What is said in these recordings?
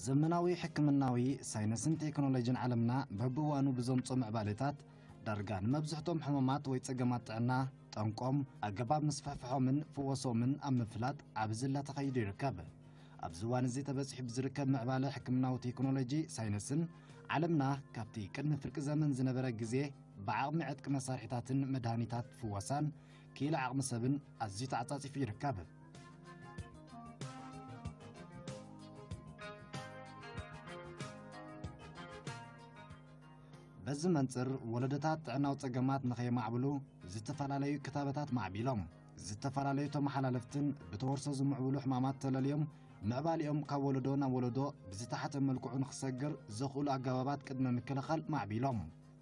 ዘመናዊ ሕክምናዊ ሳይንስን ቴክኖሎጂን ዓለምና በብእዋኑ ብዘምጾ ምዕባለታት ዳርጋ ንመብዝሕቶም ሕማማት ወይ ጸገማት ጥዕና ጠንቆም፣ ኣገባብ ምስፍሕፍሖምን ፍወሶምን ኣብ ምፍላጥ ዓቢ ዝላ ተኸይዱ ይርከብ። ኣብዚ እዋን እዚ ተበጺሑ ብዝርከብ ምዕባለ ሕክምናዊ ቴክኖሎጂ ሳይንስን ዓለምና ካብቲ ቅድሚ ፍርቂ ዘመን ዝነበረ ግዜ ብዓቕሚ ዕጥቂ መሳርሒታትን መድሃኒታት ፍወሳን ክኢላ ዓቕሚ ሰብን ኣዝዩ ተዓጻጺፉ ይርከብ። በዚ መንጽር ወለዶታት ጥዕናዊ ጸገማት ንኸየማዕብሉ ዝተፈላለዩ ክታበታት ማዕቢሎም፣ ዝተፈላለዩ ተመሓላለፍትን ብተወርሶ ዝምዕብሉ ሕማማት ተለልዮም ምዕባሊኦም ካብ ወለዶ ናብ ወለዶ ብዝተሓተ መልክዑ ንኽሰግር ዘኽእሉ ኣገባባት ቅድመ ምክልኻል ማዕቢሎም።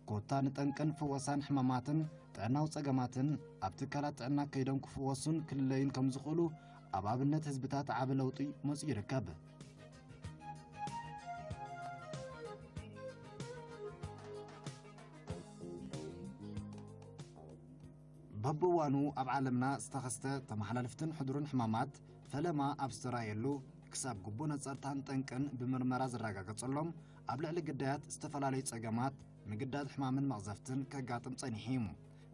ኮታ ንጠንቅን ፍወሳን ሕማማትን ጥዕናዊ ጸገማትን ኣብ ትካላት ጥዕና ከይዶም ክፍወሱን ክልለዩን ከም ዝኽእሉ ኣብ ኣብነት ህዝብታት ዓቢ ለውጢ መጺኡ ይርከብ። በብእዋኑ ኣብ ዓለምና ዝተኸስተ ተመሓላልፍትን ሕዱርን ሕማማት ፈለማ ኣብ ዝተራእየሉ፣ ክሳብ ግቡእ ነጸርታን ጠንቅን ብምርመራ ዝረጋገጸሎም፣ ኣብ ልዕሊ ግዳያት ዝተፈላለዩ ጸገማት፣ ምግዳድ ሕማምን መቕዘፍትን ከጋጥም ጸኒሑ እዩ።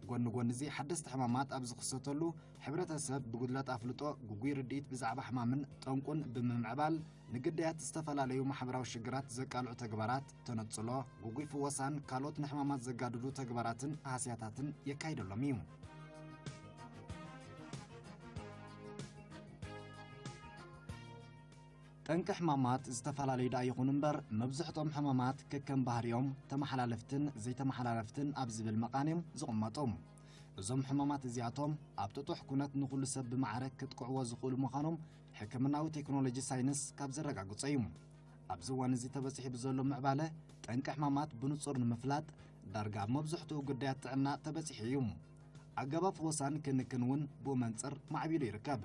ጎኒ ጎኒ እዚ፣ ሓደስቲ ሕማማት ኣብ ዝኽሰተሉ፣ ሕብረተሰብ ብጉድለት ኣፍልጦ፣ ግጉይ ርድኢት ብዛዕባ ሕማምን ጠንቁን ብምምዕባል፣ ንግዳያት ዝተፈላለዩ ማሕበራዊ ሽግራት ዘቃልዑ ተግባራት፣ ተነጽሎ፣ ግጉይ ፍወሳን ካልኦት ንሕማማት ዘጋድዱ ተግባራትን ሃስያታትን የካይደሎም እዩ። ጠንቂ ሕማማት ዝተፈላለዩ ደኣ ይኹኑ እምበር፣ መብዝሕቶም ሕማማት ከከም ባህሪኦም ተመሓላለፍትን ዘይተመሓላለፍትን ኣብ ዝብል መቓን እዮም ዝቕመጡ። እዞም ሕማማት እዚኣቶም ኣብ ጥጡሕ ኩነት ንኹሉ ሰብ ብማዕረ ክጥቅዕዎ ዝኽእሉ ምዃኖም ሕክምናዊ ቴክኖሎጂ ሳይንስ ካብ ዘረጋግጾ እዩ። ኣብዚ እዋን እዚ ተበጺሑ ብዘሎ ምዕባለ፣ ጠንቂ ሕማማት ብንጹር ንምፍላጥ ዳርጋ ኣብ መብዝሕትኡ ጉዳያት ጥዕና ተበጺሑ እዩ። ኣገባብ ፈወሳን ክንክን እውን ብኡ መንጽር ማዕቢሉ ይርከብ።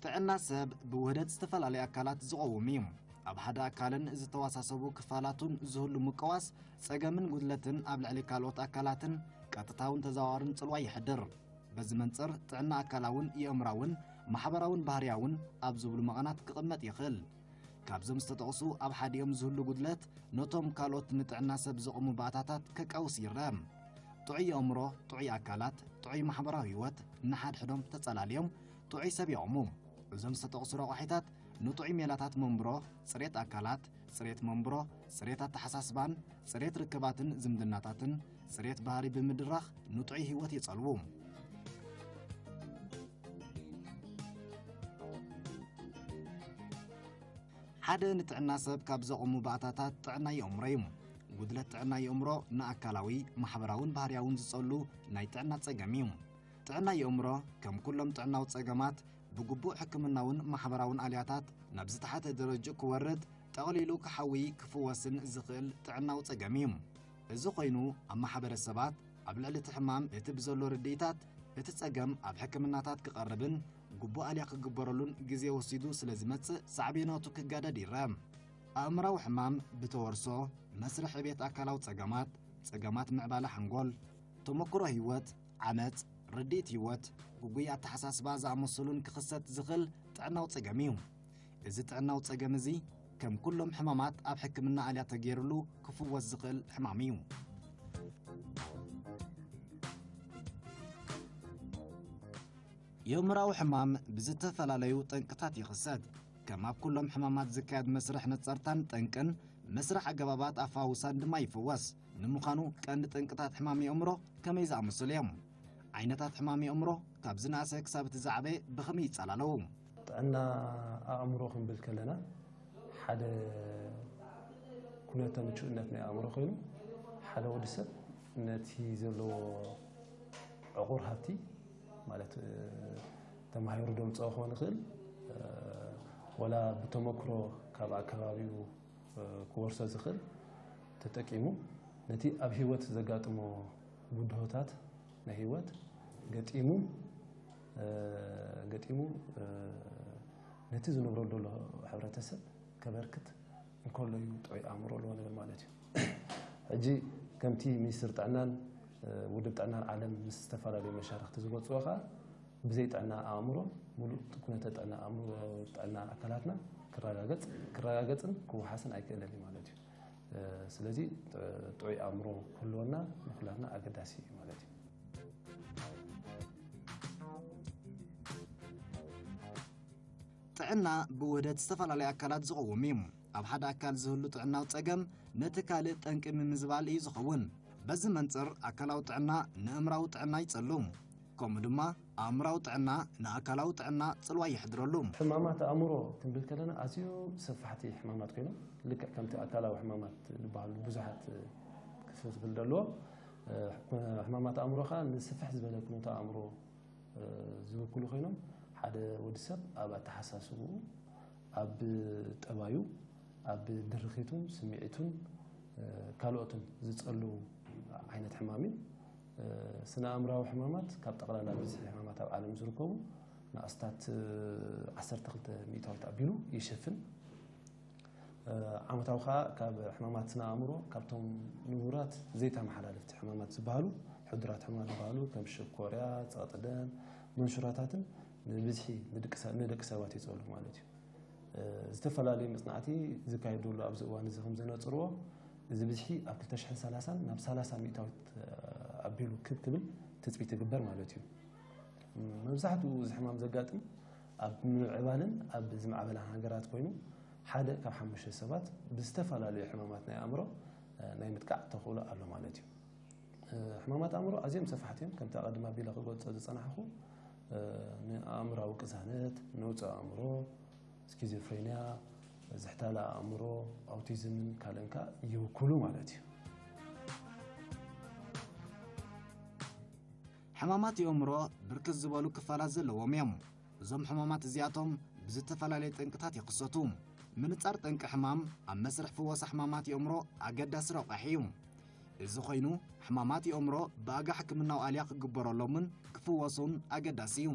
ጥዕና ሰብ ብውህደት ዝተፈላለዩ ኣካላት ዝቐውም እዩ። ኣብ ሓደ ኣካልን ዝተዋሳሰቡ ክፋላቱን ዝህሉ ምቅዋስ፣ ጸገምን ጉድለትን ኣብ ልዕሊ ካልኦት ኣካላትን ቀጥታውን ተዘዋዋርን ጽልዋ የሕድር። በዚ መንጽር፣ ጥዕና ኣካላውን የእምራውን ማሕበራውን ባህርያውን ኣብ ዝብሉ መቐናት ክቕመጥ ይኽእል። ካብዞም ዝተጠቕሱ ኣብ ሓዲኦም ዝህሉ ጉድለት፣ ነቶም ካልኦት ንጥዕና ሰብ ዘቑሙ ባእታታት ከቃውስ ይረአ። ጥዑይ ኣእምሮ፣ ጥዑይ ኣካላት፣ ጥዑይ ማሕበራዊ ህይወት ንሓድሕዶም ተጸላልዮም ጥዑይ ሰብ የቑሙ። እዞም ዝተጠቕሱ ረቋሒታት ንጥዑይ ሜላታት መንብሮ፣ ጽሬት ኣካላት፣ ጽሬት መንብሮ፣ ጽሬት ኣተሓሳስባን ጽሬት ርክባትን ዝምድናታትን ጽሬት ባህሪ ብምድራኽ ንጥዑይ ህይወት የጸልዉ። ሓደ ንጥዕና ሰብ ካብ ዘቑሙ ባእታታት ጥዕና የእምሮ እዩ። ጉድለት ጥዕና የእምሮ ንኣካላዊ፣ ማሕበራውን ባህርያውን ዝጸሉ ናይ ጥዕና ጸገም እዩ። ጥዕና የእምሮ ከም ኩሎም ጥዕናዊ ጸገማት ብግቡእ ሕክምናውን ማሕበራውን ኣልያታት ናብ ዝተሓተ ደረጅኡ ክወርድ፣ ጠቕሊሉ ክሓዊ ክፍወስን ዝኽእል ጥዕናዊ ጸገም እዩ። እዚ ኮይኑ ኣብ ማሕበረሰባት ኣብ ልዕሊ እቲ ሕማም እቲ ብዘሎ ርድኢታት እቲ ጸገም ኣብ ሕክምናታት ክቐርብን ግቡእ ኣልያ ክግበረሉን ግዜ ወሲዱ ስለ ዝመጽእ ሳዕቤናቱ ክጋደድ ይረአ። ኣእምራዊ ሕማም ብተወርሶ፣ መስርሕ ዕቤት ኣካላዊ ጸገማት፣ ጸገማት ምዕባለ ሓንጎል፣ ተመክሮ ህይወት፣ ዓመጽ፣ ርድኢት ህይወት፣ ግጉይ ኣተሓሳስባ ዝኣመሰሉን ክኽሰት ዝኽእል ጥዕናዊ ጸገም እዩ። እዚ ጥዕናዊ ጸገም እዚ ከም ኩሎም ሕማማት ኣብ ሕክምና ኣልያ ተገይሩሉ ክፍወስ ዝኽእል ሕማም እዩ። የእምራዊ ሕማም ብዝተፈላለዩ ጠንቅታት ይኽሰት። ከም ኣብ ኩሎም ሕማማት ዝካየድ መስርሕ ነጸርታን ጠንቅን፣ መስርሕ ኣገባባት ኣፈዋውሳን ድማ ይፍወስ። ንምዃኑ ቀንዲ ጠንቅታት ሕማም የእምሮ ከመይ ዝኣመሰሉ እዮም? ዓይነታት ሕማም የእምሮ ካብ ዝነኣሰ ክሳብ እቲ ዝዓበየ ብኸመይ ይጸላለዉ? ጥዕና ኣእምሮ ክንብል ከለና፣ ሓደ ኩነተ ምቹእነት ናይ ኣእምሮ ኮይኑ፣ ሓደ ወዲ ሰብ ነቲ ዘለዎ ዕቑር ሃብቲ፣ ማለት፣ እ፣ ተማሂሩ ደምፅኦ ክኾን ይኽእል፣ እ፣ ወላ ብተመክሮ ካብ ኣከባቢኡ፣ እ፣ ክወርሶ ዝኽእል ተጠቂሙ፣ ነቲ ኣብ ህይወት ዘጋጥሞ ብድሆታት ናይ ህይወት ገጢሙ፣ እ፣ ገጢሙ፣ እ፣ ነቲ ዝነብረሉ ዘሎ ሕብረተሰብ ከበርክት እንከሎ እዩ ጥዑይ ኣእምሮ ኣለዎ ንብል ማለት እዩ። ሕጂ ከምቲ ሚኒስትር ጥዕናን፣ እ፣ ውድብ ጥዕናን ዓለም ምስ ዝተፈላለዩ መሻርኽቲ ዝገልጽዎ ከኣ፣ ብዘይ ጥዕና ኣእምሮ ሙሉእ ኩነተ ጥዕና ኣእምሮ፣ ጥዕና ኣካላትና ክረጋገጽ፣ ክረጋገጽን ክወሓስን ኣይክእልን እዩ ማለት እዩ። እ፣ ስለዚ ጥ-፣ ጥዑይ ኣእምሮ ክህልወና ንኩላትና ኣገዳሲ እዩ ማለት እዩ። ጥዕና ብውህደት ዝተፈላለዩ ኣካላት ዝቐውም እዩ። ኣብ ሓደ ኣካል ዝህሉ ጥዕናዊ ጸገም ነቲ ካልእ ጠንቂ ምምዝባል እዩ ዝኸውን። በዚ መንጽር ኣካላዊ ጥዕና ንእምራዊ ጥዕና ይጸሉ፣ ከምኡ ድማ ኣእምራዊ ጥዕና ንኣካላዊ ጥዕና ጽልዋ የሕድረሉ። ሕማማት ኣእምሮ ክንብል ከለና ኣዝዩ ሰፋሕቲ ሕማማት ኮይኖም፣ ልክዕ ከምቲ ኣካላዊ ሕማማት ዝበሃሉ ብዙሓት ክፍፍል ዘለዎ፣ እ፣ ሕማማት ኣእምሮ ኸኣ ንስፍሕ ዝበለ ኩነተ ኣእምሮ እ፣ ዝውክሉ ኮይኖም፣ ሓደ ወዲ ሰብ ኣብ ኣተሓሳስብኡ፣ ኣብ ጠባዩ፣ ኣብ ድርኺቱን ስምዒቱን፣ እ፣ ካልኦትን ዝጸሉ ዓይነት ሕማም እዩ። እ፣ ስነ ኣእምራዊ ሕማማት ካብ ጠቕላላ ብዝሒ ሕማማት ኣብ ዓለም ዝርከቡ ንኣስታት፣ እ፣ ዓሰርተ ክልተ ሚእታዊት ኣቢሉ ይሸፍን። እ፣ ዓመታዊ ኸኣ ካብ ሕማማት ስነ ኣእምሮ ካብቶም ንቡራት ዘይተመሓላለፍቲ ሕማማት ዝበሃሉ፣ ሕዱራት ሕማማት ዝበሃሉ ከም ሽኮርያ፣ ጸቕጢ ደም፣ መንሹራታትን ንብዝሒ ንደቂ ሰ-፣ ንደቂ ሰባት የጸሉ ማለት እዩ። እ፣ ዝተፈላለዩ መጽናዕቲ ዝካየደሉ ኣብዚ እዋን እዚ ከም ዘነጽርዎ፣ እዚ ብዝሒ ኣብ ክልተ ሽሕን ሰላሳን ናብ ሰላሳ ሚእታዊት፣ እ፣ ኣቢሉ ክብ ክብል ትጽቢት ይግበር ማለት እዩ። መብዛሕትኡ እዚ ሕማም ዘጋጥም ኣብ ምምዕባልን ኣብ ዝማዕበላን ሃገራት ኮይኑ፣ ሓደ ካብ ሓሙሽተ ሰባት ብዝተፈላለዩ ሕማማት ናይ ኣእምሮ፣ እ፣ ናይ ምጥቃዕ ተኽእሎ ኣሎ ማለት እዩ። እ፣ ሕማማት ኣእምሮ ኣዝዮም ሰፋሕቲ እዮም። ከምቲ ኣቐድም ኣቢለ ክገልጾ ዝጸናሕኩ፣ እ፣ ንኣእምራዊ ቅዛነት፣ ነውጺ ኣእምሮ፣ ስኪዞፍሬንያ፣ ዝሕታለ ኣእምሮ፣ ኣውቲዝምን ካልእን ከኣ ይውክሉ ማለት እዩ። ሕማማት የእምሮ ብርክት ዝበሉ ክፋላት ዘለዎም እዮም። እዞም ሕማማት እዚኣቶም ብዝተፈላለየ ጠንቅታት ይኽሰቱ። ምንጻር ጠንቂ ሕማም ኣብ መስርሕ ፍወሳ ሕማማት የእምሮ ኣገዳሲ ረቋሒ እዩ። እዚ ኮይኑ፣ ሕማማት የእምሮ ብኣጋ ሕክምናዊ ኣልያ ክግበረሎምን ክፍወሱን ኣገዳሲ እዩ።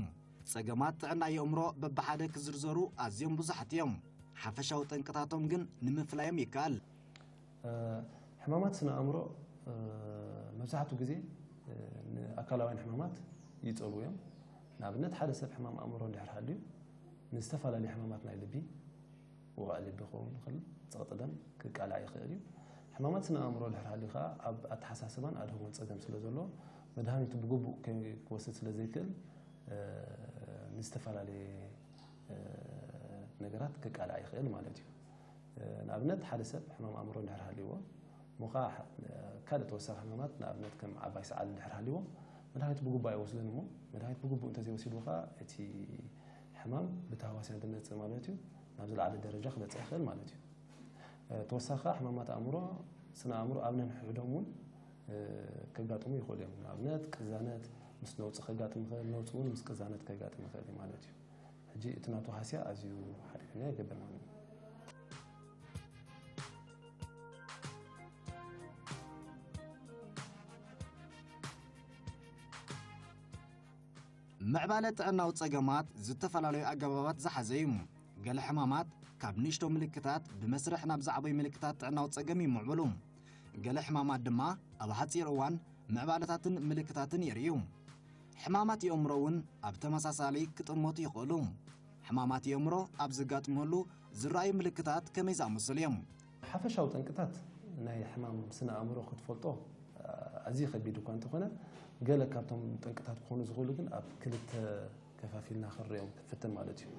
ጸገማት ጥዕና የእምሮ በብሓደ ክዝርዘሩ ኣዝዮም ብዙሓት እዮም። ሓፈሻዊ ጠንቅታቶም ግን ንምፍላዮም ይከኣል። እ፣ ሕማማት ስነ ኣእምሮ፣ እ፣ መብዛሕትኡ ግዜ፣ እ፣ ንኣካላውያን ሕማማት ይጸልዉ እዮም። ንኣብነት፣ ሓደ ሰብ ሕማም ኣእምሮ እንድሕር ሃልዩ፣ ንዝተፈላለዩ ሕማማት ናይ ልቢ፣ ውቓዕ ልቢ ክኸውን ይኽእል፣ ጸቕጢ ደም ክቃላዕ ይኽእል እዩ። ሕማማት ስነ ኣእምሮ ድሕር ሃልዩ ከኣ፣ ኣብ ኣተሓሳስባን ኣድህቦን ጸገም ስለ ዘሎ፣ መድሃኒቱ ብግቡእ ከይ-፣ ክወስድ ስለ ዘይክእል፣ እ፣ ንዝተፈላለየ፣ እ፣ ነገራት ክቃላዕ ይኽእል ማለት እዩ። እ፣ ንኣብነት፣ ሓደ ሰብ ሕማም ኣእምሮ እንድሕር ሃልይዎ፣ እሞ ከኣ፣ እ፣ ካልእ ተወሳኺ ሕማማት፣ ንኣብነት፣ ከም ዓባይ ሰዓል እንድሕር ሃልይዎ፣ መድሃኒት ብግቡእ ኣይወስድን እሞ፣ መድሃኒት ብግቡእ እንተዘይወሲዱ ከኣ፣ እቲ ሕማም ብተሃዋስያን ዝመጽእ ማለት እዩ፣ ናብ ዝለዓለ ደረጃ ክበጽሕ ይኽእል ማለት እዩ። እ፣ ተወሳኺ ከኣ፣ ሕማማት ኣእምሮ፣ ስነ ኣእምሮ ኣብ ነንሕድሕዶም እውን፣ እ፣ ከጋጥሙ ይኽእሉ እዮም። ንኣብነት፣ ቅዛነት ምስ ነውጺ ከጋጥም ይኽእል፣ ነውጺ እውን ምስ ቅዛነት ከጋጥም ይኽእል እዩ ማለት እዩ። ሕጂ እቲ ናቱ ሃስያ ኣዝዩ ሓደገኛ ይገብር ማለት እዩ። ምዕባለ ጥዕናዊ ጸገማት ዝተፈላለዩ ኣገባባት ዝሓዘ እዩ። ገለ ሕማማት ካብ ንእሽቶ ምልክታት ብመስርሕ ናብ ዝዓበዩ ምልክታት ጥዕናዊ ጸገም ይምዕብሉ። ገለ ሕማማት ድማ ኣብ ሓጺር እዋን ምዕባለታትን ምልክታትን የርእዩ። ሕማማት የእምሮ እውን ኣብ ተመሳሳሊ ክጥመቱ ይኽእሉ። ሕማማት የእምሮ ኣብ ዘጋጥመሉ ዝረኣዩ ምልክታት ከመይ ዝኣመሰሉ እዮም? ሓፈሻዊ ጠንቅታት ናይ ሕማም ስነ ኣእምሮ ክትፈልጦ ኣዝዩ ከቢድ እኳ እንተኾነ፣ ገለ ካብቶም ጠንቅታት ክኾኑ ዝኽእሉ ግን ኣብ ክልተ ከፋፊልና ክንሪኦም ክንፍትን ማለት እዩ።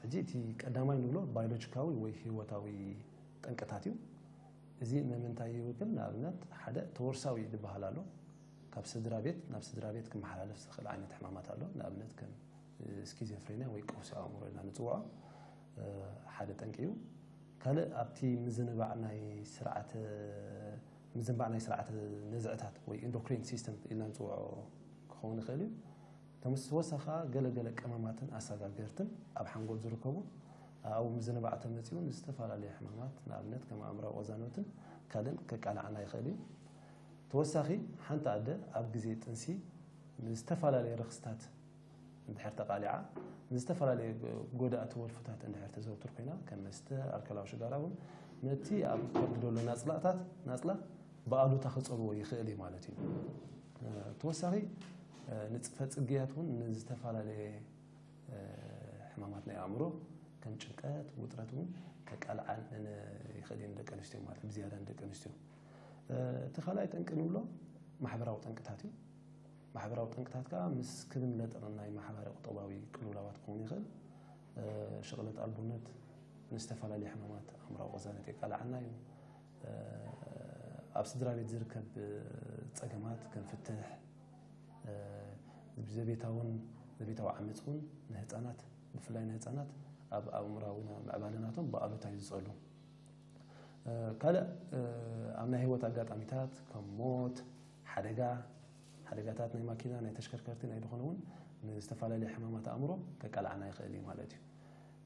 ሕጂ እቲ ቀዳማይ ንብሎ ባዮሎጂካዊ ወይ ህይወታዊ ጠንቅታት እዩ። እዚ ንምንታይ ይውክል? ንኣብነት፣ ሓደ ተወርሳዊ ዝበሃል ኣሎ። ካብ ስድራ ቤት ናብ ስድራ ቤት ክመሓላለፍ ዝኽእል ዓይነት ሕማማት ኣሎ። ንኣብነት፣ ከም ስኪዞፍሬንያ ወይ ቀውሲ ኣእምሮ ኢልና ንጽውዖ፣ እ፣ ሓደ ጠንቂ እዩ። ካልእ ኣብቲ ምዝንባዕ ናይ ስርዓተ፣ ምዝንባዕ ናይ ስርዓተ ነዝዕታት ወይ ኢንዶክሪን ሲስተም ኢልና ንጽውዖ ክኸውን ይኽእል እዩ። ተመስ-፣ ተወሳኺ ከኣ ገለ ገለ ቀመማትን ኣሰጋገርትን ኣብ ሓንጎል ዝርከቡ ኣብኡ ምዝንባዕ ተመጺኡ ንዝተፈላለዩ ሕማማት፣ ንኣብነት ከም ኣእምራዊ ቅዛነትን ካልእን ከቃልዓና ይኽእል እዩ። ተወሳኺ፣ ሓንቲ ኣደ ኣብ ግዜ ጥንሲ ንዝተፈላለየ ረኽስታት እንድሕር ተቓሊዓ፣ ንዝተፈላለየ ጎዳእቲ ወልፍታት እንድሕር ተዘውትር ኮይና፣ ከም መስተ፣ ኣልኮላዊ ሽጋራ እውን ነቲ ኣብ ከብዲ ዘሎ ናጽላታት፣ ናጽላ ብኣሉታ ክጸልዎ ይኽእል እዩ ማለት እዩ። ተወሳኺ፣ ንፅፈ ፅግያት እውን ንዝተፈላለየ ሕማማት ናይ ኣእምሮ ከም ጭንቀት፣ ውጥረት እውን ከቃልዓን ይኽእል እዩ ንደቂ ኣንስትዮ ማለት እዩ፣ ብዝያዳ ንደቂ ኣንስትዮ። እቲ ካልኣይ ጠንቂ ንብሎ ማሕበራዊ ጠንቅታት እዩ። ማሕበራዊ ጠንቅታት ከዓ ምስ ክብን ለጠቕን ናይ ማሕበረ ቁጠባዊ ቅልውላዋት ክኸውን ይኽእል። ሽቕለት ኣልቦነት ንዝተፈላለዩ ሕማማት ኣእምራዊ ቅዛነት የቃልዓና እዩ። ኣብ ስድራ ቤት ዝርከብ ፀገማት ከም ፍትሕ፣ ዘቤታውን ዘቤታዊ ዓመፅ እውን ንህፃናት፣ ብፍላይ ንህፃናት ኣብ ኣእምራዊ ምዕባለ ናቶም ብኣሉታ እዩ ዝፀሉ። ካልእ ኣብ ናይ ህይወት ኣጋጣሚታት ከም ሞት፣ ሓደጋ፣ ሓደጋታት ናይ ማኪና፣ ናይ ተሽከርከርቲ፣ ናይ ዝኾነ እውን ንዝተፈላለየ ሕማማት ኣእምሮ ከቃልዓና ይኽእል እዩ ማለት እዩ።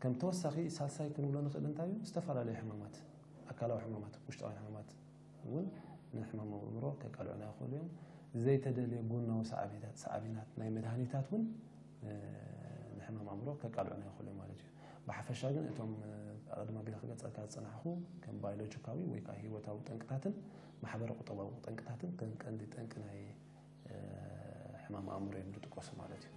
ከም ተወሳኺ ሳልሳይ ክንብሎ ንኽእል እንታይ እዩ? ዝተፈላለዩ ሕማማት፣ ኣካላዊ ሕማማት፣ ውሽጣውያን ሕማማት እውን ንሕማም ኣእምሮ ከቃልዑና ይኽእሉ እዮም። ዘይተደልየ ጎናዊ ሳዕቤታት፣ ሳዕቤናት ናይ መድሃኒታት እውን ንሕማም ኣእምሮ ከቃልዑና ይኽእሉ እዮም ማለት እዩ። ብሓፈሻ ግን እቶም ኣቐድም ኣቢለ ክገልጸልካ ዝጸናሕኹ ከም ባዮሎጂካዊ ወይ ከዓ ህይወታዊ ጠንቅታትን ማሕበረ ቁጠባዊ ጠንቅታትን ከም ቀንዲ ጠንቂ ናይ ሕማም ኣእምሮ እዮም ዝጥቀሱ ማለት እዩ።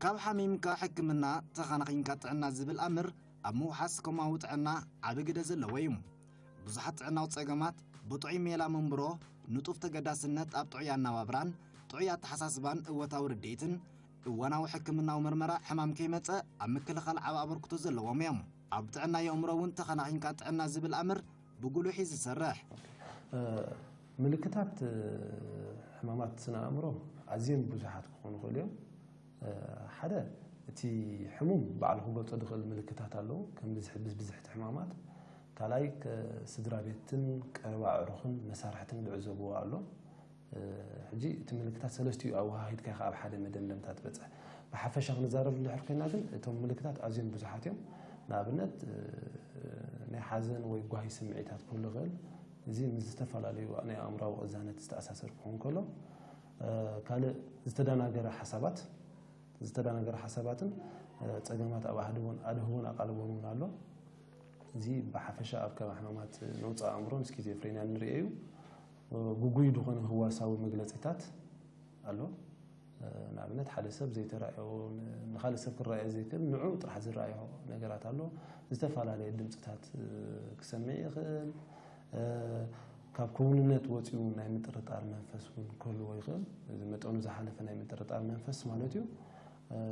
ካብ ሓሚምካ ሕክምና፣ ተኻናኺንካ ጥዕና ዝብል ኣምር ኣብ ምውሓስ ኮማዊ ጥዕና ዓቢ ግደ ዘለዎ እዩ። ብዙሓት ጥዕናዊ ጸገማት ብጥዑይ ሜላ መንብሮ፣ ንጡፍ ተገዳስነት ኣብ ጥዑይ ኣነባብራን ጥዑይ ኣተሓሳስባን እወታዊ ርድኢትን እዋናዊ ሕክምናዊ መርመራ ሕማም ከይመጸ ኣብ ምክልኻል ዓቢ ኣበርክቶ ዘለዎም እዮም። ኣብ ጥዕና የእምሮ እውን ተኸናኺንካ ጥዕና ዝብል ኣምር ብጉሉሕ እዩ ዝሰርሕ። ምልክታት ሕማማት ስነ ኣእምሮ ኣዝዮም ብዙሓት ክኾኑ ይኽእሉ እዮም። ሓደ እቲ ሕሙም ባዕሉ ክገልጾ ዝኽእል ምልክታት ኣለዉ፣ ከም ብዝሒ ብዝሕቲ ሕማማት። ካልኣይ ስድራ ቤትን ቀረባ ኣዕሩኽን መሳርሕትን ዝዕዘብዎ ኣሎ። ሕጂ እቲ ምልክታት ሰለስቲኡ ኣወሃሂድካ ኢኻ ኣብ ሓደ መደምደምታ ትበጽሕ። ብሓፈሻ ክንዛረብ እንድሕር ኮይና ግን እቶም ምልክታት ኣዝዮም ብዙሓት እዮም። ንኣብነት ናይ ሓዘን ወይ ጓሂ ስምዒታት ክህሉ ይኽእል። እዚ ምስ ዝተፈላለዩ ናይ ኣእምራዊ ቅዛነት ዝተኣሳሰር ክኸውን ከሎ ካልእ ዝተደናገረ ሓሳባት ዝተደናገረ ሓሳባትን ጸገማት ኣብ ኣድህቦን ኣድህቦን ኣቓልቦን እውን ኣሎ። እዚ ብሓፈሻ ኣብ ከባቢ ሕማማት ነውፃእ ኣእምሮን ስኪዞፍሬንያን ንርእዮ እዩ። ግጉይ ዝኾነ ህዋሳዊ መግለፂታት ኣሎ። ንኣብነት ሓደ ሰብ ዘይተራእዮ ንካልእ ሰብ ክረኣዮ ዘይክእል ንዑ ጥራሕ ዝረኣዮ ነገራት ኣሎ። ዝተፈላለየ ድምፅታት ክሰምዕ ይኽእል። ካብ ክውንነት ወፂኡ ናይ ምጥርጣር መንፈስ እውን ክህልዎ ይኽእል። እዚ መጠኑ ዝሓለፈ ናይ ምጥርጣር መንፈስ ማለት እዩ።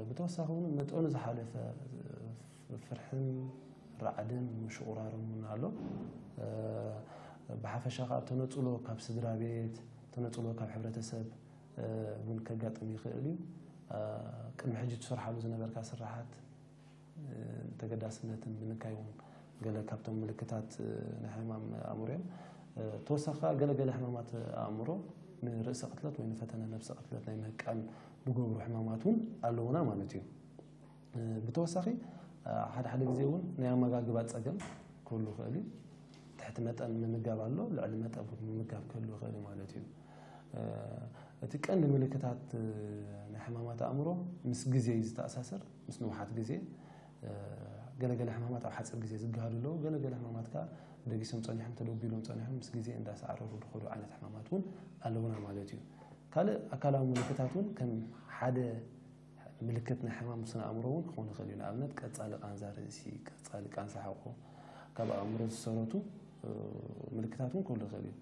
ብተወሳኺ እውን መጠኑ ዝሓለፈ ፍርሕን ራዕድን ምሽቑራርን እውን ኣሎ። ብሓፈሻ ከዓ ተነፅሎ ካብ ስድራ ቤት፣ ተነፅሎ ካብ ሕብረተሰብ እውን ከጋጥም ይኽእል እዩ። ቅድሚ ሕጂ ትሰርሓሉ ዝነበርካ ስራሓት ተገዳስነትን ምንካይ እውን ገለ ካብቶም ምልክታት ናይ ሕማም ኣእምሮ እዮም። ተወሳኺ ከዓ ገለገለ ሕማማት ኣእምሮ ንርእሰ ቅትለት ወይ ንፈተነ ነብሰ ቅትለት ናይ ምህቃን ዝገብሩ ሕማማት እውን ኣለውና ማለት እዩ። ብተወሳኺ ሓደ ሓደ ግዜ እውን ናይ ኣመጋግባ ፀገም ክህሉ ይኽእል እዩ። ትሕቲ መጠን ምምጋብ ኣሎ፣ ልዕሊ መጠን እውን ምምጋብ ክህሉ ይኽእል እዩ ማለት እዩ። እቲ ቀንዲ ምልክታት ናይ ሕማማት ኣእምሮ ምስ ግዜ እዩ ዝተኣሳሰር፣ ምስ ንውሓት ግዜ። ገለገለ ሕማማት ኣብ ሓፂር ግዜ ዝገሃዱ ኣለዉ፣ ገለገለ ሕማማት ከዓ ደጊሶም ፀኒሖም ተደቢሎም ፀኒሖም ምስ ግዜ እንዳሰዓረሩ ዝኸዱ ዓይነት ሕማማት እውን ኣለውና ማለት እዩ። ካልእ ኣካላዊ ምልክታት እውን ከም ሓደ ምልክት ናይ ሕማም ስነ ኣእምሮ እውን ክኾን ይኽእል እዩ። ንኣብነት ቀፃሊ ቃንዛ ርእሲ፣ ቀፃሊ ቃንዛ ሕቆ፣ ካብ ኣእምሮ ዝሰረቱ ምልክታት እውን ክህሉ ይኽእል እዩ።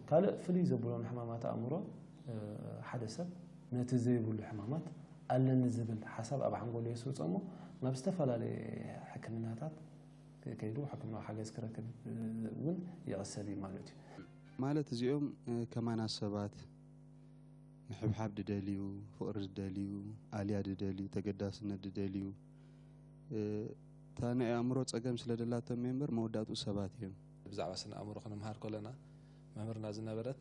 ካልእ ፍልይ ዘብሎም ሕማማት ኣእምሮ ሓደ ሰብ ነቲ ዘይብሉ ሕማማት ኣለኒ ዝብል ሓሳብ ኣብ ሓንጎሉ የስርፆ እሞ ናብ ዝተፈላለየ ሕክምናታት ከይዱ ሕክምናዊ ሓገዝ ክረክብ እውን ይቕሰብ እዩ ማለት እዩ። ማለት እዚኦም ከማና ሰባት ምሕብሓብ ድደልዩ፣ ፍቕሪ ድደልዩ፣ ኣልያ ድደልዩ፣ ተገዳስነት ድደልዩ፣ እታ ናይ ኣእምሮ ጸገም ስለ ደላቶም እምበር መወዳእትኡ ሰባት እዮም። ብዛዕባ ስነ ኣእምሮ ክንምሃር ከለና መምህርና ዝነበረት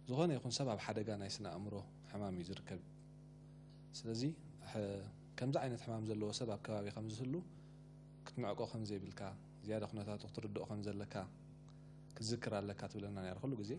ዝኾነ ይኹን ሰብ ኣብ ሓደጋ ናይ ስነ ኣእምሮ ሕማም እዩ ዝርከብ። ስለዚ ከምዚ ዓይነት ሕማም ዘለዎ ሰብ ኣብ ከባቢ ከም ዝህሉ ክትምዕቆ ከም ዘይብልካ፣ ዝያዳ ኩነታቱ ክትርድኦ ከም ዘለካ ክትዝክር ኣለካ ትብለና ነይራ ኩሉ ግዜ።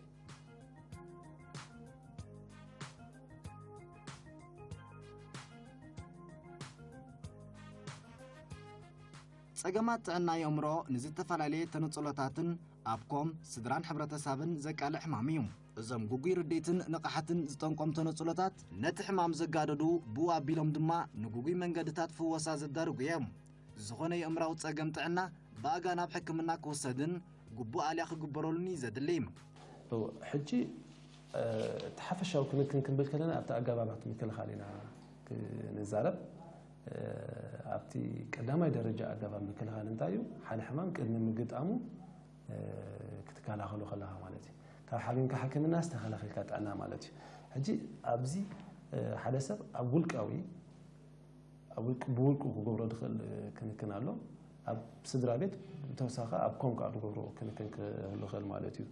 ጸገማት ጥዕና የእምሮ ንዝተፈላለየ ተነጽሎታትን ኣብ ኮም፣ ስድራን ሕብረተሰብን ዘቃልዕ ሕማም እዩ። እዞም ግጉይ ርድኢትን ንቕሓትን ዝጠንቆም ተነጽሎታት ነቲ ሕማም ዘጋደዱ፣ ብኡ ኣቢሎም ድማ ንግጉይ መንገድታት ፍወሳ ዘዳርጉ እዮም። ዝኾነ የእምራዊ ጸገም ጥዕና ብኣጋ ናብ ሕክምና ክውሰድን ግቡእ ኣልያ ክግበረሉን እዩ ዘድሊ። ሕጂ እቲ ሓፈሻዊ ክንክን ክንብል ከለና ኣብቲ ኣገባባት ምክልኻል ኢና ክንዛረብ። ኣብቲ ቀዳማይ ደረጃ ኣገባብ ምክልኻል እንታይ እዩ? ሓደ ሕማም ቅድሚ ምግጣሙ ክትከላኸሉ ከለኻ ማለት እዩ። ካብ ሓሚምካ ሕክምና ዝተኸላኸልካ ጥዕና ማለት እዩ። ሕጂ ኣብዚ ሓደ ሰብ ኣብ ውልቃዊ ኣብ ውልቅ ብውልቁ ክገብሮ ዝኽእል ክንክን ኣሎ። ኣብ ስድራ ቤት ብተወሳኺ ኣብ ኮም ከዓ ዝገብሮ ክንክን ክህሉ ይኽእል ማለት እዩ።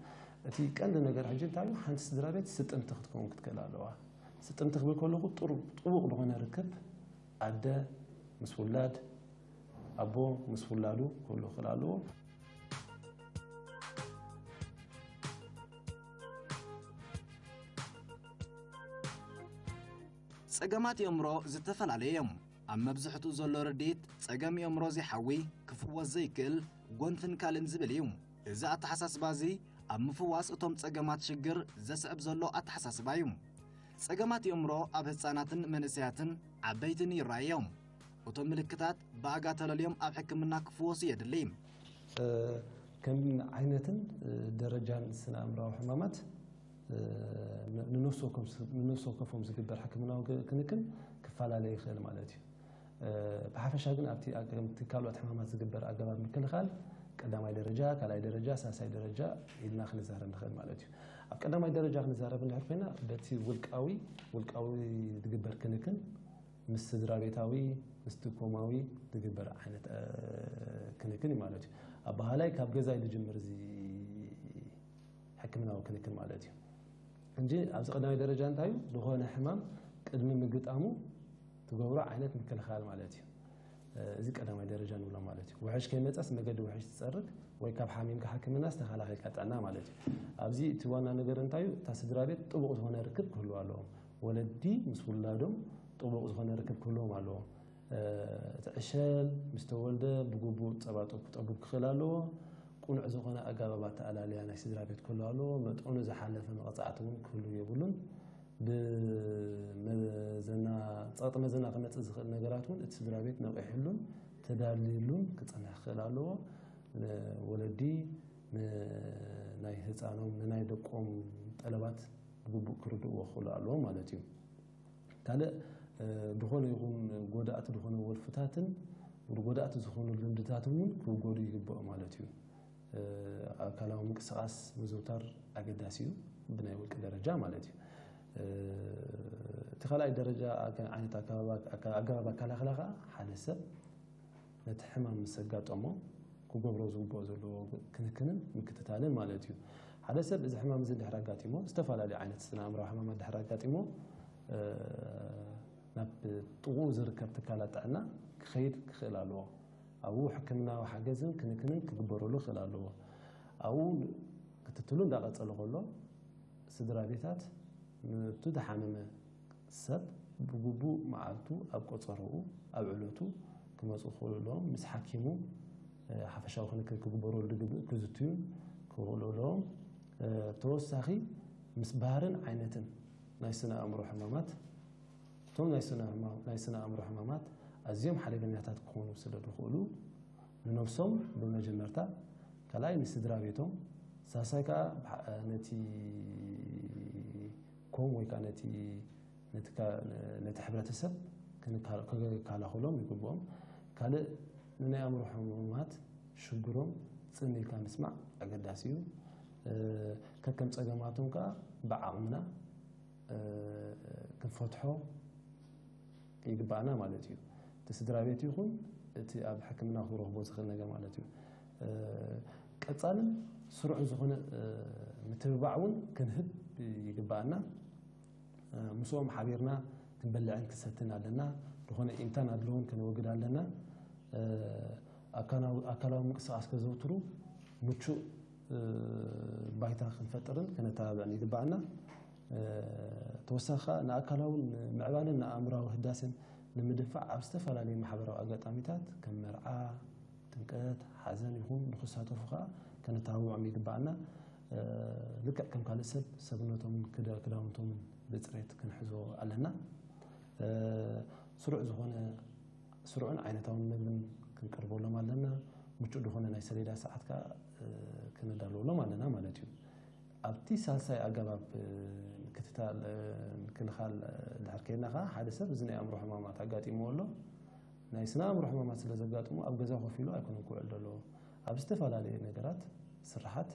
እቲ ቀንዲ ነገር ሕጂ እንታይ እዩ? ሓንቲ ስድራ ቤት ስጥምቲ ክትከውን ክትክእል ኣለዋ። ስጥምቲ ክብል ከለኹ ጥሩ ጥቡቕ ዝኾነ ርክብ ኣደ ምስ ውላድ፣ ኣቦ ምስ ውላዱ ክህሉ ክኽእል ኣለዎ። ጸገማት የእምሮ ዝተፈላለዩ እዮም። ኣብ መብዝሕትኡ ዘሎ ርድኢት ጸገም የእምሮ ዘይሓዊ፣ ክፍወስ ዘይክእል፣ ጎንፍን ካልእን ዝብል እዩ። እዚ ኣተሓሳስባ እዚ ኣብ ምፍዋስ እቶም ጸገማት ሽግር ዘስዕብ ዘሎ ኣተሓሳስባ እዩ። ጸገማት የእምሮ ኣብ ህጻናትን መንእሰያትን ዓበይትን ይረኣዩ እዮም። እቶም ምልክታት ብኣጋ ተለልዮም ኣብ ሕክምና ክፍወሱ የድሊ። ከም ዓይነትን ደረጃን ስነ ኣእምራዊ ሕማማት ንነፍሲ ወከፎም ዝግበር ሕክምናዊ ክንክን ክፈላለ ይኽእል ማለት እዩ። ብሓፈሻ ግን ኣብቲ ከምቲ ካልኦት ሕማማት ዝግበር ኣገባብ ምክልኻል ቀዳማይ ደረጃ፣ ካልኣይ ደረጃ፣ ሳልሳይ ደረጃ ኢልና ክንዛረብ ንኽእል ማለት እዩ። ኣብ ቀዳማይ ደረጃ ክንዛረብ እንድሕር ኮይና በቲ ውልቃዊ ውልቃዊ ዝግበር ክንክን ምስ ስድራ ቤታዊ ምስቲ ኮማዊ ዝግበር ዓይነት ክንክን እዩ ማለት እዩ። ኣበሃላይ ካብ ገዛይ ዝጅምር እዚ ሕክምናዊ ክንክን ማለት እዩ። እንጂ ኣብዚ ቀዳማይ ደረጃ እንታይ እዩ? ዝኾነ ሕማም ቅድሚ ምግጣሙ ትገብሮ ዓይነት ምክልኻል ማለት እዩ። እዚ ቀዳማይ ደረጃ ንብሎ ማለት እዩ። ውሕጅ ከይመፀስ መገዲ ውሕጅ ትፀርግ ወይ ካብ ሓሚምካ ሕክምና ዝተኸላኸልካ ጥዕና ማለት እዩ። ኣብዚ እቲ ዋና ነገር እንታይ እዩ? እታ ስድራ ቤት ጥቡቕ ዝኾነ ርክብ ክህልዋ ኣለዎም። ወለዲ ምስ ውላዶም ጥቡቕ ዝኾነ ርክብ ክህልዎም ኣለዎም። እቲ ዕሸል ምስ ተወልደ ብግቡእ ጸባ ጡብ ክጠቡብ ክኽእል ኣለዎ። ቅኑዕ ዝኾነ ኣገባብ ኣተኣላልያ ናይ ስድራ ቤት ክህሉ ኣለዎ። መጠኑ ዝሓለፈ መቕጻዕቲ እውን ክህሉ የብሉን። ብመዘና፣ ጸቕጢ መዘና ክመጽእ ዝኽእል ነገራት እውን እቲ ስድራ ቤት ነቒሕሉን ተዳልዩሉን ክጸንሕ ክኽእል ኣለዎ። ወለዲ ናይ ህጻኖም፣ ንናይ ደቆም ጠለባት ብግቡእ ክርድእዎ ክኽእሉ ኣለዎም ማለት እዩ። ካልእ ዝኾነ ይኹን ጎዳእቲ ዝኾነ ወልፍታትን ጎዳእቲ ዝኾኑ ልምድታትን እውን ክውገዱ ይግባእ ማለት እዩ። ኣካላዊ ምንቅስቃስ ምዝውታር ኣገዳሲ እዩ፣ ብናይ ውልቂ ደረጃ ማለት እዩ። እቲ ካልኣይ ደረጃ ዓይነት ኣገባብ ኣከላኸላ ከዓ ሓደ ሰብ ነቲ ሕማም ምስ ኣጋጠሞ ክገብሮ ዝግብኦ ዘለዎ ክንክንን ምክትታልን ማለት እዩ። ሓደ ሰብ እዚ ሕማም እዚ ድሕር ኣጋጢሞ፣ ዝተፈላለዩ ዓይነት ስነ ኣእምራዊ ሕማማት ድሕር ኣጋጢሞ ናብ ጥቕኡ ዝርከብ ትካላት ጥዕና ክኸይድ ክኽእል ኣለዎ። ኣብኡ ሕክምናዊ ሓገዝን ክንክንን ክግበረሉ ክኽእል ኣለዎ። ኣብኡ ክትትሉ እንዳቐጸለ ከሎ ስድራ ቤታት ነቲ ዝሓመመ ሰብ ብግቡእ መዓልቱ ኣብ ቆጸሮኡ ኣብ ዕለቱ ክመጹ ክኽእሉ ኣለዎም። ምስ ሓኪሙ ሓፈሻዊ ክንክን ክግበረሉ ዝግብእ ክዝትዩን ክኽእሉ ኣለዎም። ተወሳኺ ምስ ባህርን ዓይነትን ናይ ስነ ኣእምሮ ሕማማት እቶም ናይ ስነ ኣእምሮ ሕማማት ኣዝዮም ሓደገኛታት ክኾኑ ስለ ዝኽእሉ ንነብሶም ብመጀመርታ ካልኣይ ንስድራ ቤቶም ሳልሳይ ከዓ ነቲ ኮም ወይ ከዓ ነቲ ነቲ ሕብረተሰብ ክከላኸሎም ይግብኦም። ካልእ ንናይ ኣእምሮ ሕሙማት ሽግሮም ጽን ኢልካ ምስማዕ ኣገዳሲ እዩ። ከከም ጸገማቶም ከዓ ብዓቕምና ክንፈትሖ ይግባኣና ማለት እዩ። እቲ ስድራ ቤት ይኹን እቲ ኣብ ሕክምና ክረኽቦ ዝኽእል ነገር ማለት እዩ። ቀጻልን ስሩዕን ዝኾነ ምትብባዕ እውን ክንህብ ይግባኣና። ምስኦም ሓቢርና ክንበልዕን ክንሰትን ኣለና። ዝኾነ ኢንታን ኣድልዎን ከነወግድ ኣለና። ኣካላዊ ምንቅስቃስ ከዘውትሩ ምቹእ ባይታ ክንፈጥርን ከነተባብዕን ይግባኣና። ተወሳኺ ከዓ ንኣካላውን ምዕባለን ንኣእምራዊ ህዳሴን ንምድንፋዕ ኣብ ዝተፈላለዩ ማሕበራዊ ኣጋጣሚታት ከም መርዓ፣ ጭንቀት፣ ሓዘን ይኹን ንኽሳተፉ ከዓ ከነተባብዖም ይግባኣና። እ፣ ልክዕ ከም ካልእ ሰብ ሰብነቶምን ክዳ-፣ ክዳውንቶምን ብፅሬት ክንሕዞ ኣለና። እ፣ ስሩዕ ዝኾነ፣ ስሩዕን ዓይነታውን ምግብን ክንቀርበሎም ኣለና። ምቹእ ዝኾነ ናይ ሰሌዳ ሰዓት ከዓ፣ እ፣ ክነዳልወሎም ኣለና ማለት እዩ። ኣብቲ ሳልሳይ ኣገባብ፣ እ፣ ምክትታል፣ እ፣ ምክልኻል፣ እ፣ ድሕር ከይድና ከዓ ሓደ ሰብ እዚ ናይ ኣእምሮ ሕማማት ኣጋጢምዎ ኣሎ። ናይ ስነ ኣእምሮ ሕማማት ስለ ዘጋጥሞ ኣብ ገዛ ኮፍ ኢሉ ኣይኮነን ክውዕል ዘለዎ። ኣብ ዝተፈላለየ ነገራት፣ ስራሓት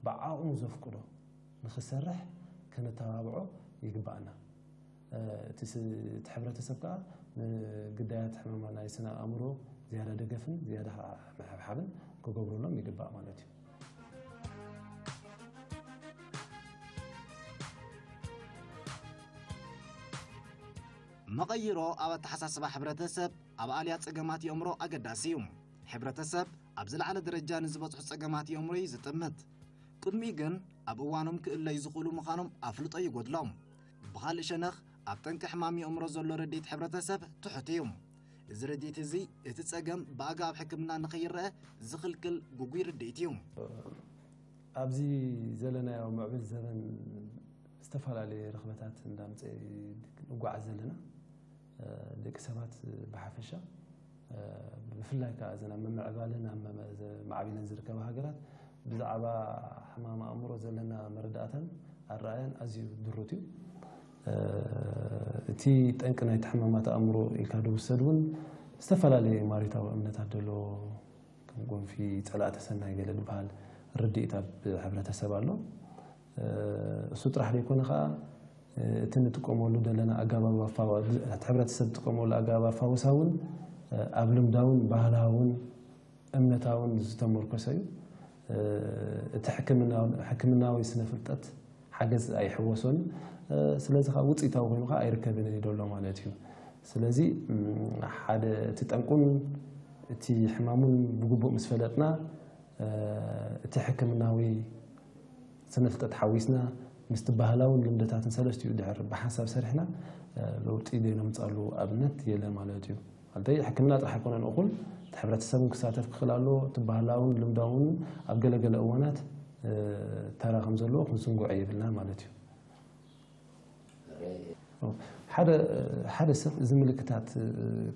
ብዓቕሙ ዘፍቅዶ ንኽሰርሕ ከነተባብዖ ይግባኣና። እ፣ እቲ ስ-፣ እቲ ሕብረተሰብ ከዓ ንግዳያት ሕማማት ናይ ስነ ኣእምሮ ዝያዳ ደገፍን ዝያዳ ምሕብሓብን ክገብረሎም ይግባእ ማለት እዩ። መቐይሮ ኣብ ኣተሓሳስባ ሕብረተሰብ ኣብ ኣልያ ጸገማት የእምሮ ኣገዳሲ እዩ። ሕብረተሰብ ኣብ ዝለዓለ ደረጃ ንዝበጽሑ ጸገማት የእምሮ እዩ ዝጥምት። ቅድሚኡ ግን ኣብ እዋኖም ክእለዩ ዝኽእሉ ምዃኖም ኣፍልጦ ይጎድሎም። ብኻልእ ሸነኽ ኣብ ጠንቂ ሕማም የእምሮ ዘሎ ረድኤት ሕብረተሰብ ትሑት እዩ። እዚ ረድኤት እዚ እቲ ጸገም ብኣግባብ ሕክምና ንኸይረአ ዝኽልክል ግጉይ ርድኢት እዩ። ኣብዚ ዘለናዮ ምዕብል ዘበን ዝተፈላለየ ርኽበታት እንዳምፀ ንጓዓዝ ዘለና፣ እ፣ ደቂ ሰባት ብሓፈሻ፣ እ፣ ብፍላይ ከዓ እዘን ኣብ ምምዕባልን ኣብ መመ-፣ ዘ-፣ ማዕቢለን ዝርከባ ሃገራት ብዛዕባ ሕማም ኣእምሮ ዘለና መረዳእታን ኣረኣያን ኣዝዩ ድሩት እዩ። እ፣ እቲ ጠንቂ ናይቲ ሕማማት ኣእምሮ ኢልካ ዝውሰድ እውን ዝተፈላለየ ማሪታዊ እምነታት ዘለዎ ከም ጎንፊ ጸላእተ ሰናይ ገለ ዝበሃል ርድኢት ኣብ ሕብረተሰብ ኣሎ። እ፣ እሱ ጥራሕ ዘይኮነ ኸኣ፣ እ፣ እቲ ንጥቀመሉ ዘለና ኣገባብ ኣፋዋ-፣ እቲ ሕብረተሰብ ዝጥቀመሉ ኣገባብ ኣፋውሳ እውን፣ እ፣ ኣብ ልምዳውን ባህላውን እምነታውን ዝተመርኮሰ እዩ። እ፣ እቲ ሕክምናውን-፣ ሕክምናዊ ስነ ፍልጠት ሓገዝ ኣይሕወሶን። እ፣ ስለዚ ኸኣ ውጽኢታዊ ኮይኑ ኸኣ ኣይርከብን እዩ ዘሎ ማለት እዩ። ስለዚ፣ እም፣ ሓደ እቲ ጠንቁን እቲ ሕማሙን ብግቡእ ምስ ፈለጥና፣ እ፣ እቲ ሕክምናዊ ስነ ፍልጠት ሓዊስና ምስቲ ባህላውን ልምድታትን ሰለስቲኡ ድሕር ብሓንሳብ ሰሪሕና፣ እ፣ ለውጢ ዘይነምጻሉ ኣብነት የለ ማለት እዩ። ማለተይ ሕክምና ጥራሕ ኣይኮነን እኹል፣ እቲ ሕብረተሰብ እውን ክሳተፍ ክኽእል ኣለዎ። እቲ ባህላውን ልምዳውን ኣብ ገለገለ እዋናት፣ እ፣ ተራ ከም ዘለዎ ክንዝንግዖ የብልና ማለት እዩ። ሓደ፣ ሓደ ሰብ እዚ ምልክታት፣ እ፣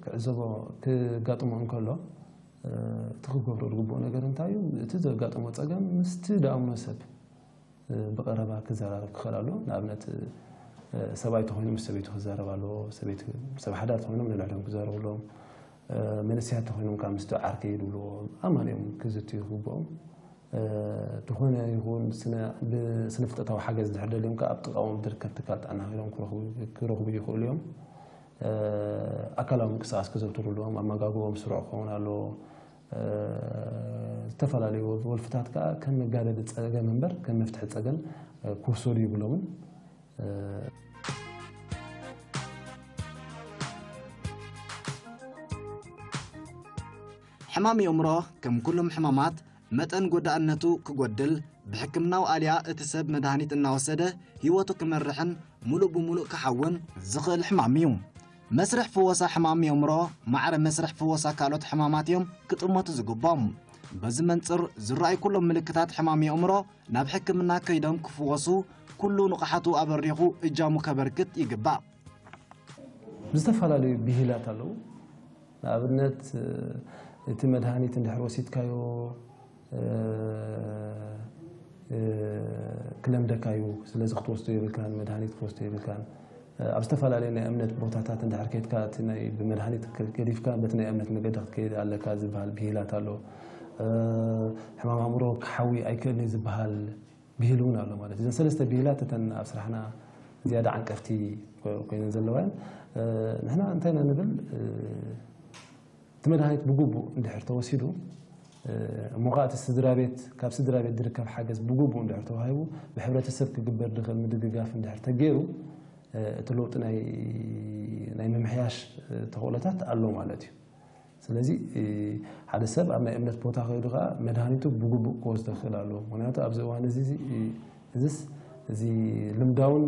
ክዕዘቦ፣ ክጋጥሞ እንከሎ፣ እ፣ እቲ ክገብሮ ዝግብኦ ነገር እንታይ እዩ? እቲ ዘጋጥሞ ጸገም ምስቲ ደኣምኖ ሰብ፣ እ፣ ብቐረባ ክዘራረብ ክኽእል ኣለዎ። ንኣብነት፣ እ፣ ሰብኣይ ተኾይኑ ምስ ሰበይቱ ክዛረብ ኣለዎ። ሰበይቲ፣ ሰብ ሓዳር ተኾይኖም ነንሕዶም ክዛረቡ ኣለዎም። እ፣ መንእሰያት ተኾይኖም ከዓ ምስቲ ዓርከይ ዝብልዎ ኣማን እዮም ክዝትዩ ክግብኦም። እ፣ ዝኾነ ይኹን ስነ-፣ ብስነ ፍልጠታዊ ሓገዝ ድሕር ደልዮም ከዓ ኣብ ጥቓኦም ዝርከብ ትካል ጥዕና ከይዶም ክረኽቡ፣ ክረኽቡ ይኽእሉ እዮም። እ፣ ኣካላዊ ምንቅስቓስ ክዘውትሩ ኣለዎም። ኣመጋግቦኦም ስሩዕ ክኸውን ኣለዎ። እ፣ ዝተፈላለዩ ወልፍታት ከዓ ከም መጋደዲ ጸገም እምበር ከም መፍትሒ ጸገም፣ እ፣ ክውሰዱ ይብሎምን። እ፣ ሕማም የእምሮ ከም ኩሎም ሕማማት መጠን ጎዳእነቱ ክጎድል፣ ብሕክምናዊ ኣልያ እቲ ሰብ መድሃኒት እናወሰደ ህይወቱ ክመርሕን ሙሉእ ብሙሉእ ክሓውን ዝኽእል ሕማም እዩ። መስርሕ ፍወሳ ሕማም የእምሮ ማዕረ መስርሕ ፍወሳ ካልኦት ሕማማት እዮም ክጥመቱ ዝግቦም። በዚ መንጽር ዝረኣዩ ኩሎም ምልክታት ሕማም የእምሮ ናብ ሕክምና ከይዶም ክፍወሱ ኩሉ ንቕሓቱ ኣበሪኹ እጃሙ ከበርክት ይግባእ። ዝተፈላለዩ ብሂላት ኣለዉ። ንኣብነት፣ እቲ መድሃኒት እንድሕር ወሲድካዮ፣ እ፣ እ፣ ክለምደካ እዩ። ስለዚ ክትወስዶ የብልካን፣ መድሃኒት ክትወስዶ የብልካን። ኣብ ዝተፈላለዩ ናይ እምነት ቦታታት እንድሕር ከይድካ፣ እቲ ናይ ብመድሃኒት ገዲፍካ በቲ ናይ እምነት መገዲ ክትከይድ ኣለካ ዝበሃል ብሂላት ኣሎ። እ፣ ሕማም ኣእምሮ ክሓዊ ኣይክእልን እዩ ዝበሃል ብሂል እውን ኣሎ ማለት እዩ። እዘን ሰለስተ ብሂላት እተን ኣብ ስራሕና ዝያዳ ዓንቀፍቲ ኮ-፣ ኮይነን ዘለዋ እየን። እ፣ ንሕና እንታይ ኢና ንብል? እ፣ እቲ መድሃኒት ብግቡእ እንድሕር ተወሲዱ፣ እ፣ እሞ ኸዓ እቲ ስድራ ቤት፣ ካብ ስድራ ቤት ዝርከብ ሓገዝ ብግቡእ እንድሕር ተዋሂቡ፣ ብሕብረተሰብ ክግበር ዝኽእል ምድግጋፍ እንድሕር ተገይሩ፣ እ፣ እቲ ለውጢ ናይ፣ ናይ ምምሕያሽ፣ እ፣ ተኽእሎታት ኣሎ ማለት እዩ። ስለዚ፣ እ፣ ሓደ ሰብ ኣብ ናይ እምነት ቦታ ከይዱ ኸዓ መድሃኒቱ ብግቡእ ክወስዶ ክኽእል ኣለዎ። ምኽንያቱ ኣብዚ እዋን እዚ፣ እዚ፣ እዚስ፣ እዚ ልምዳውን፣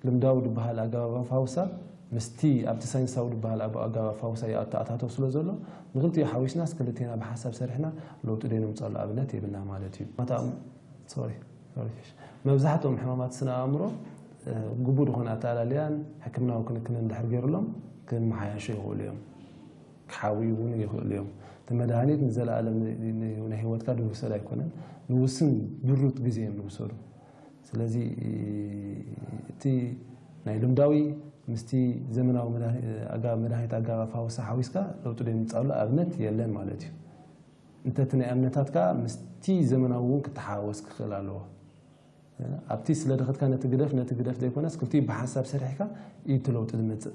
ልምዳዊ ዝበሃል ኣገባብ ኣፋውሳ ምስቲ ኣብቲ ሳይንሳዊ ዝበሃል ኣጋባብ ኣፋውሳ ይኣተኣታተው ስለ ዘሎ፣ ንክልቲኡ ሓዊስናስ ክልቴና ብሓሳብ ሰሪሕና ለውጢ ደይነምፀሉ ኣብነት የብልና ማለት እዩ። ማታ ሶሪ ሶሪ መብዛሕትኦም ሕማማት ስነ ኣእምሮ ግቡእ ዝኾነ ኣተኣላልያን ሕክምናዊ ክንክንን ድሕር ገይሩሎም ክመሓያሹ ይኽእሉ እዮም። ክሓውዩ እውን ይኽእሉ እዮም። እቲ መድሃኒት ንዘለኣለም ናይ ህይወትካ ድውሰድ ኣይኮነን። ንውስን ድሩት ግዜ እዮም ዝውሰዱ። ስለዚ እቲ ናይ ልምዳዊ ምስቲ ዘመናዊ መድሃኒት ኣጋባብ ሓዊስካ ለውጢ ደምፃሉ ኣብነት የለን ማለት እዩ። እንተ እቲ ናይ እምነታት ከዓ ምስቲ ዘመናዊ እውን ክተሓወስ ክኽእል ኣለዎ። ኣብቲ ስለ ድኸድካ ነቲ ግደፍ ነቲ ግደፍ ዘይኮነስ ክልቲኡ ብሓንሳብ ሰሪሕካ እዩ እቲ ለውጢ ዝመፅእ።